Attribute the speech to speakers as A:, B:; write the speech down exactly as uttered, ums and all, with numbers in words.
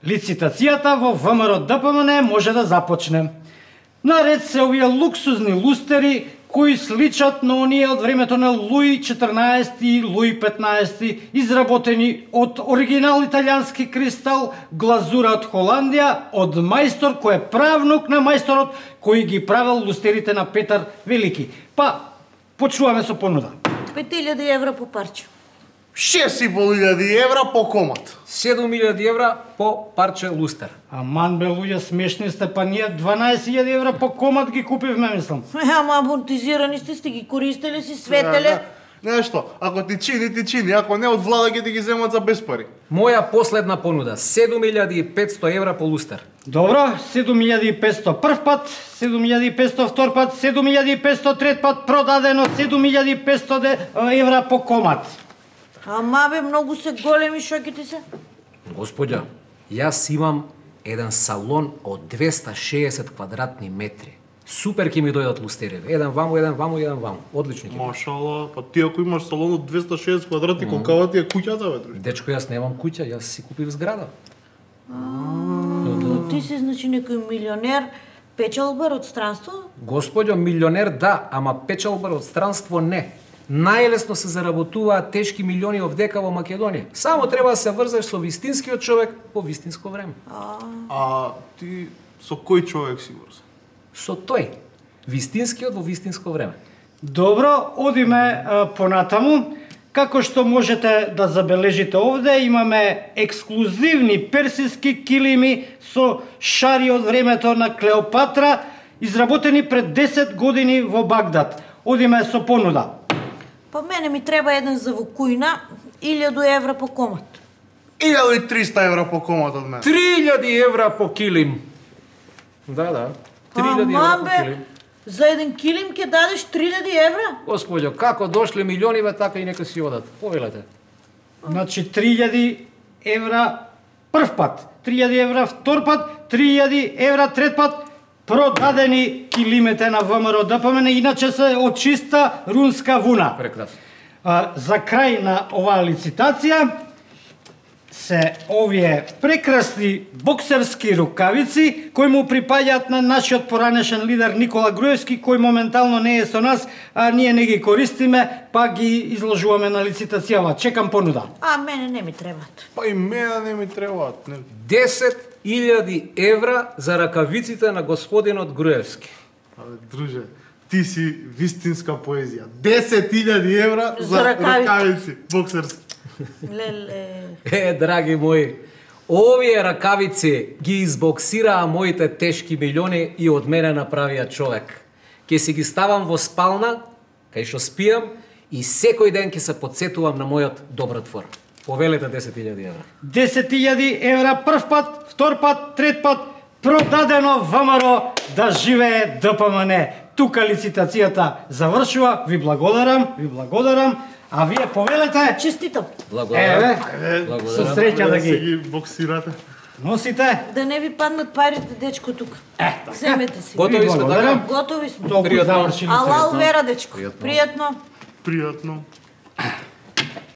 A: Лицитацијата во ВМРО-ДПМН може да започне. Наред се овие луксузни лустери кои сличат на оние од времето на Луи четрнаести и Луи петнаести, изработени од оригинал италијански кристал, глазура од Холандија, од мајстор кој е правнук на мајсторот кој ги правил лустерите на Петар Велики. Па, почнуваме со понуда.
B: пет илјади евра по парче.
C: шест и пол илјади евра по комат.
D: седум илјади евра по парче лустер.
A: Аман бе, луѓе, смешни сте, па ние дванаесет илјади евра по комат ги купивме, мислам.
B: Е, ама амортизирани сте, сте ги користеле, си светеле.
C: Нешто, ако ти чини, ти чини, ако не од влада ги ти ги земат за без пари.
D: Моја последна понуда, седум илјади и петсто евра по лустер.
A: Добро, седум илјади и петсто прв пат, седум илјади и петсто втор пат, седум илјади и петсто трет пат, продадено седум илјади и петсто евра по комат.
B: Ама бе, многу се големи шоките се.
D: Господја, јас имам еден салон од двеста и шеесет квадратни метри. Супер ќе ми дојдат лустереве. Еден ваму, еден ваму, еден ваму. Одлични ќе.
C: Машала, па ти ако имаш салон од двеста и шеесет квадрати, колкава ти е куќата, бе, друже?
D: Дечко, јас немам куќа, јас си купив зграда.
B: Ти си, значи, некој милионер, печалбар од странство?
D: Господјо, милионер да, ама печалбар од странство не. Најлесно се заработуваат тешки милиони овдека во Македонија. Само треба да се врзеш со вистинскиот човек по вистинско време.
C: А ти со кој човек си врзан?
D: Со тој, вистинскиот во вистинско време.
A: Добро, одиме а, понатаму. Како што можете да забележите овде, имаме ексклузивни персиски килими со шари од времето на Клеопатра, изработени пред десет години во Багдад. Одиме со понуда.
B: Па мене ми треба еден за вокујна, илјаду евра по комат.
C: илјада и триста евра по комат од мене.
D: три илјади евра по килим. Да, да. три илјади евра по килим.
B: За еден килим ќе дадеш три илјади евра?
D: Господјо, како дошле милиониве, така и нека си одат. Повелете.
A: Значи три илјади евра прв пат, три илјади евра втор пат, три илјади евра трет пат, продадени килимете на ВМРО-ДПМН, иначе се од чиста рунска вуна.
D: Прекрасно.
A: А, за крај на оваа лицитација се овие прекрасни боксерски рукавици кои му припаѓаат на нашиот поранешен лидер Никола Груевски, кој моментално не е со нас, а ние не ги користиме, па ги изложуваме на лицитацијава. Чекам понуда.
B: А мене не ми требаат.
C: Па и мене не ми требаат. Не.
D: десет илјади евра за ракавиците на господинот Груевски.
C: Абе, друже, ти си вистинска поезија. десет илјади евра за,
B: За ракавици.
C: ракавици боксерски.
B: Леле.
D: Е, драги мои, овие ракавици ги избоксираа моите тешки милиони и од мене направија човек. Ке си ги ставам во спална, кај што спијам, и секој ден ќе се подсетувам на мојот добротвор. Повелете десет илјади евра.
A: десет илјади евра прв пат, втор пат, трет пат, продадено ВМРО, да живее ДПМН. Тука лицитацијата завршува. Ви благодарам, ви благодарам. А вие повелете.
B: Честитам.
D: Благодарам.
A: Еве,
D: Благодарам.
A: со среќа да
C: се
A: ги
C: ги боксирате.
A: носите.
B: Да не ви паднат парите, дечко, тука.
A: Е,
B: Земете си.
D: Готови сме,
A: благодарам.
D: така?
B: Готови сме.
A: Толку
D: Пријатно.
A: завршили
B: Алал
A: се.
B: вера, дечко.
D: Пријатно.
B: Пријатно.
C: Пријатно.